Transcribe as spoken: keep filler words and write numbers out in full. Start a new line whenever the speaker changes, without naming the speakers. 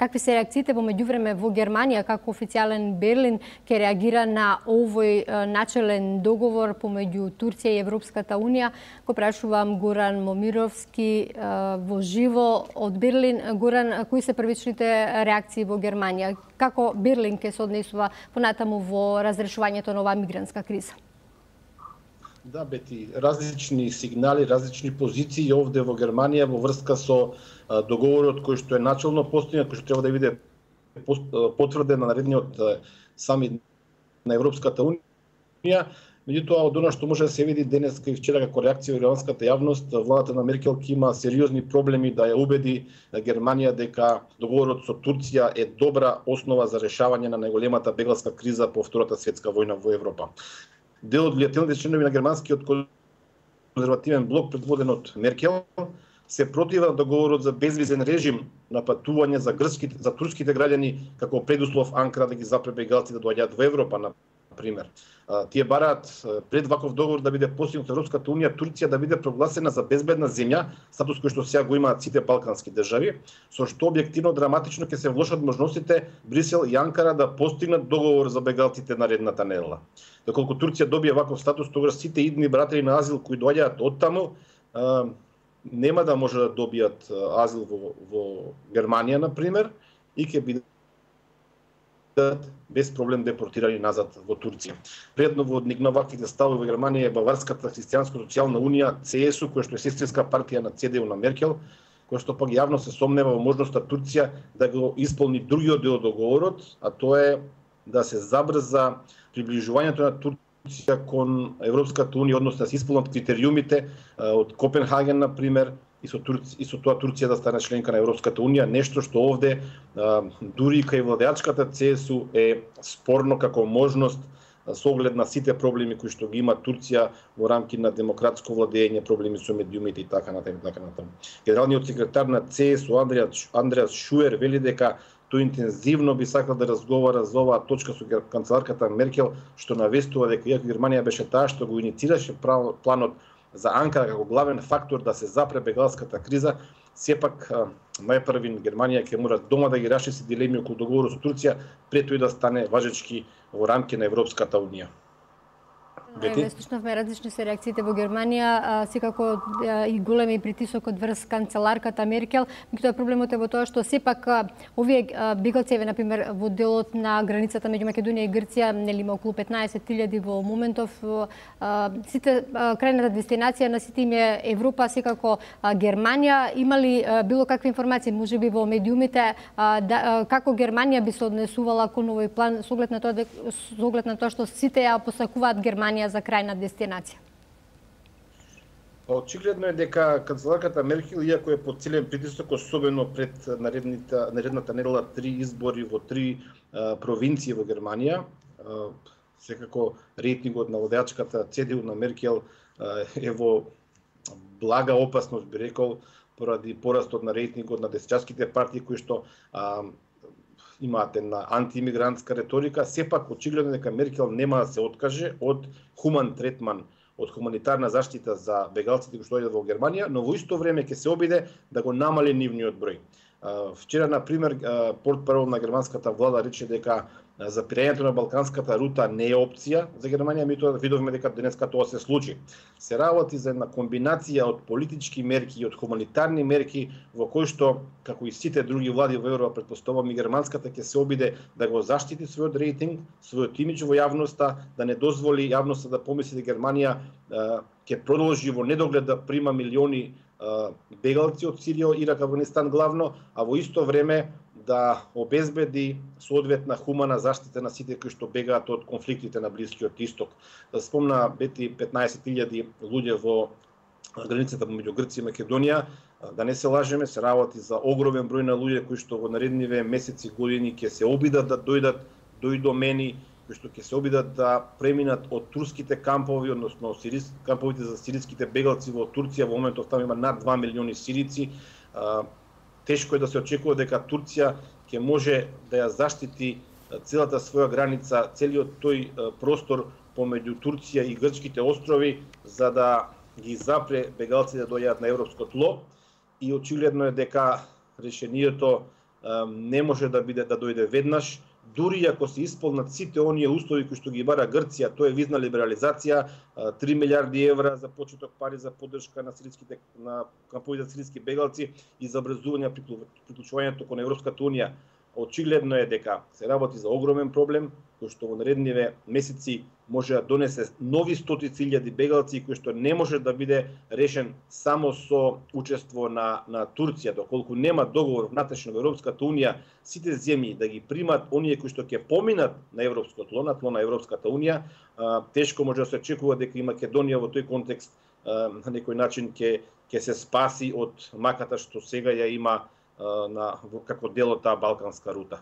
какви се реакциите во меѓувреме во Германија, како официјален Берлин ќе реагира на овој начелен договор помеѓу Турција и Европската унија? Го прашувам Горан Момировски во живо од Берлин. Горан, кои се првичните реакции во Германија? Како Берлин ќе се однесува понатаму во разрешувањето на оваа мигрантска криза?
Да, Бети, различни сигнали, различни позиции овде во Германија во врска со договорот кој што е начелно постигнат, кој што треба да биде потврден на наредниот самит на Европската унија. Меѓутоа, од она што може да се види денес и вчера како реакција во германската јавност, владата на Меркел ќе има сериозни проблеми да ја убеди Германија дека договорот со Турција е добра основа за решавање на најголемата беглска криза по Втората светска војна во Европа. Дел од влијателните членови на германскиот конзервативен блок, предводен од Меркел, се протива на договорот за безвизен режим на патување за грчките, за турските граѓани како предуслов Анкара да ги запре бегалци да доаѓаат во Европа, на пример. Тие бараат пред ваков договор да биде постигнат од Европската унија, Турција да биде прогласена за безбедна земја, статус кој што сега го имаат сите балкански држави, со што објективно драматично ќе се влошат можностите Брисел и Анкара да постигнат договор за бегалците наредната недела. Доколку Турција добие ваков статус, тогаш сите идни баратели на азил кои доаѓаат оттаму нема да може да добијат азил во, во Германија, на пример, и ќе бидат без проблем депортирани назад во Турција. Предноводник на ваквите ставови во Германија е Баварската христијанско-социјална унија, Це Ес У, која што е сестринска партија на Це Де У на Меркел, која што пак јавно се сомнева во можноста Турција да го исполни другиот дел од договорот, а тоа е да се забрза приближувањето на Турција кон Европската унија, односно да се исполнат критериумите од Копенхаген, на пример, и со, Турци, и со тоа Турција да стане членка на Европската унија, нешто што овде а, дури кај владеачката Це Ес У е спорно како можност со оглед на сите проблеми кои што ги има Турција во рамки на демократско владење, проблеми со медиумите и така натаму, така натаму. Генералниот секретар на Це Ес У Андреас, Андреас Шуер вели дека тој интензивно би сакал да разговара за оваа точка со канцеларката Меркел, што навестува дека иако Германија беше таа што го иницираше планот за Анкара како главен фактор да се запре бегалската криза, сепак најпрви Германија ќе мора дома да ги раши дилеми околу договорот со Турција пред тој да стане важечки во рамки на Европската унија.
Слушнавме различни се реакциите во Германија, секако и големи притисокот врз канцеларката Меркел. Меѓутоа проблемот е во тоа што сепак овие бегалци, на пример, во делот на границата меѓу Македонија и Грција, нели има околу петнаесет илјади во моментов. Сите крајната дестинација на сите им е Европа, секако Германија. Има ли било какви информации, можеби во медиумите, да, како Германија би се однесувала кон овој план со оглед на тоа, со оглед на тоа што сите ја посакуваат Германија за крајна дестинација?
Очигледно е дека канцеларката Меркел, иако е под силен притисок, особено пред наредната, наредната недела три избори во три а, провинции во Германија, а, секако рейтингот на владеачката Це Де У на Меркел а, е во блага опасност, би рекол, поради порастот на рейтингот на десетичарските партии кои што а, имаат една антиимигрантска реторика, сепак очигледно дека Меркел нема да се откаже од хуман третман, од хуманитарна заштита за бегалците кои што доаѓаат во Германија, но во исто време ќе се обиде да го намали нивниот број. Вчера, на пример, портпарол на германската влада рече дека запирањето на балканската рута не е опција за Германија, меѓутоа видовме дека денеска тоа се случи. Се работи за една комбинација од политички мерки и од хуманитарни мерки во кои што, како и сите други влади во Европа, претпоставувам и германската ќе се обиде да го заштити својот рейтинг, својот имидж во јавноста, да не дозволи јавноста да помисли дека Германија ќе продолжи во недоглед да прима милиони бегалци од Сирија, Ирак, Афганистан главно, а во исто време да обезбеди соодветна хумана заштита на сите кои што бегаат од конфликтите на Блискиот Исток. Да спомна, Бети, петнаесет илјади луѓе во границата меѓу Грција и Македонија, да не се лажеме, се работи за огромен број на луѓе кои што во наредниве месеци, години ќе се обидат да дојдат до домени, кои што ќе се обидат да преминат од турските кампови, односно сирис, камповите за сириските бегалци во Турција. Во моментов таму има над два милиони сирици. Тешко е да се очекува дека Турција ќе може да ја заштити целата своја граница, целиот тој простор помеѓу Турција и грчките острови, за да ги запре бегалците да доаѓаат на европско тло. И очигледно е дека решението не може да биде да дојде веднаш, дури ако се исполнат сите оние услови кои што ги бара Грција, тоа е визна либерализација, три милиарди евра за почеток пари за поддршка на сириските на кампови за сирийски бегалци и за образување приклучувањето кон Европската унија. Очигледно е дека се работи за огромен проблем, кој што во наредниве месеци може да донесе нови стотици илјади бегалци, кој што не може да биде решен само со учество на, на Турција, доколку нема договор внатрешно во Европската унија, сите земји да ги примат оние кои што ќе поминат на европско тло, на тло на Европската унија, а, тешко може да се очекува дека и Македонија во тој контекст а, на некој начин ќе ќе се спаси од маката што сега ја има на, како дел од таа балканска рута.